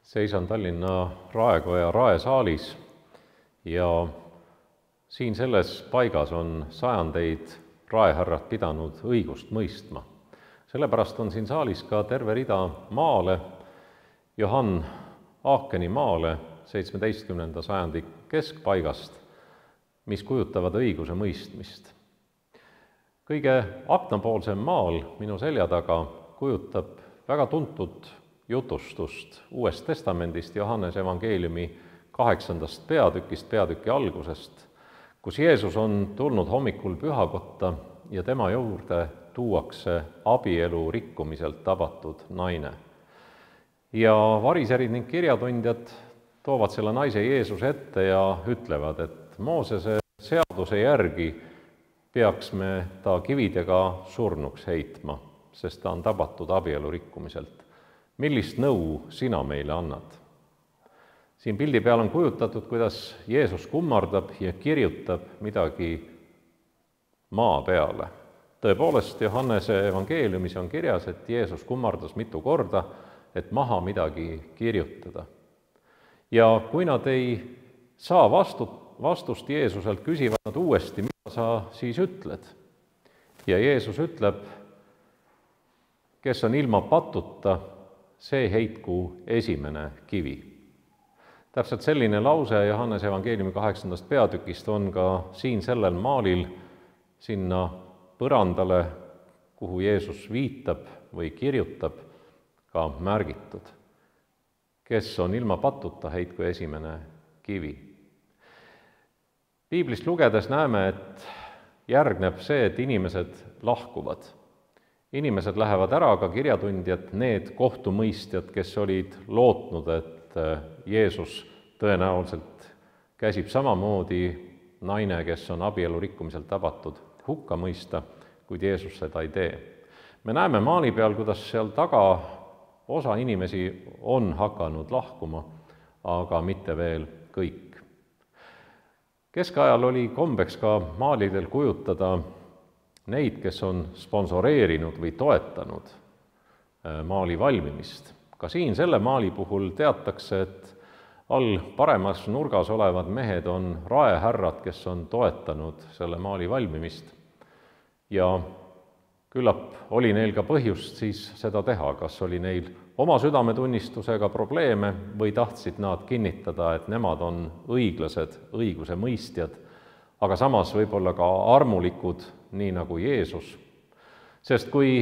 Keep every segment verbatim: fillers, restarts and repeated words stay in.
Seisan Tallinna Raekoja raesaalis ja siin selles paigas on sajandeid raehärrad pidanud õigust mõistma. Sellepärast on siin saalis ka terve rida maale, Johann Aakeni maale seitsmeteistkümnenda sajandi keskpaigast, mis kujutavad õiguse mõistmist. Kõige aknapoolsem maal minu selja taga kujutab väga tuntud jutustust Uuest Testamendist, Johannese evangeeliumi kaheksandast peatükist, peatüki algusest, kus Jeesus on tulnud hommikul pühakotta ja tema juurde tuuakse abielu rikkumiselt tabatud naine. Ja variserid ning kirjatundjad toovad selle naise Jeesuse ette ja ütlevad, et Moosese seaduse järgi peaks me ta kividega surnuks heitma, sest ta on tabatud abielu rikkumiselt. Millist nõu sina meile annad? Siin pildi peal on kujutatud, kuidas Jeesus kummardab ja kirjutab midagi maa peale. Tõepoolest, Johannese evangeeliumis on kirjas, et Jeesus kummardas mitu korda, et maha midagi kirjutada. Ja kui nad ei saa vastu, vastust Jeesuselt, küsivad nad uuesti, mida sa siis ütled? Ja Jeesus ütleb, kes on ilma patuta, see heitku esimene kivi. Täpselt selline lause Johannese evangeeliumi kaheksandast peatükist on ka siin sellel maalil sinna põrandale, kuhu Jeesus viitab või kirjutab, ka märgitud. Kes on ilma patuta, heitku esimene kivi. Piiblist lugedes näeme, et järgneb see, et inimesed lahkuvad. Inimesed lähevad ära, ka kirjatundjad, need kohtumõistjad, kes olid lootnud, et Jeesus tõenäoliselt käsib samamoodi naine, kes on abielu rikkumiselt tabatud, hukka mõista, kuid Jeesus seda ei tee. Me näeme maali peal, kuidas seal taga osa inimesi on hakanud lahkuma, aga mitte veel kõik. Keskajal oli kombeks ka maalidel kujutada neid, kes on sponsoreerinud või toetanud maali valmimist. Ka siin selle maali puhul teatakse, et all paremas nurgas olevad mehed on raehärrad, kes on toetanud selle maali valmimist. Ja küllap oli neil ka põhjust siis seda teha, kas oli neil oma südametunnistusega probleeme või tahtsid nad kinnitada, et nemad on õiglased, õiguse mõistjad, aga samas võib-olla ka armulikud, nii nagu Jeesus. Sest kui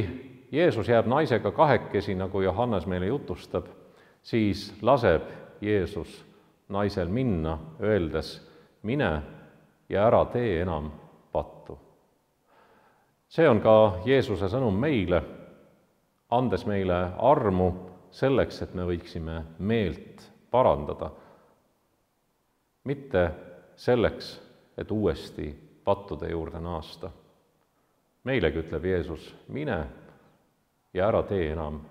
Jeesus jääb naisega kahekesi, nagu Johannes meile jutustab, siis laseb Jeesus naisel minna, öeldes, mine ja ära tee enam pattu. See on ka Jeesuse sõnum meile, andes meile armu selleks, et me võiksime meelt parandada, mitte selleks, et uuesti pattude juurde naasta. Meilegi ütleb Jeesus, mine ja ära tee enam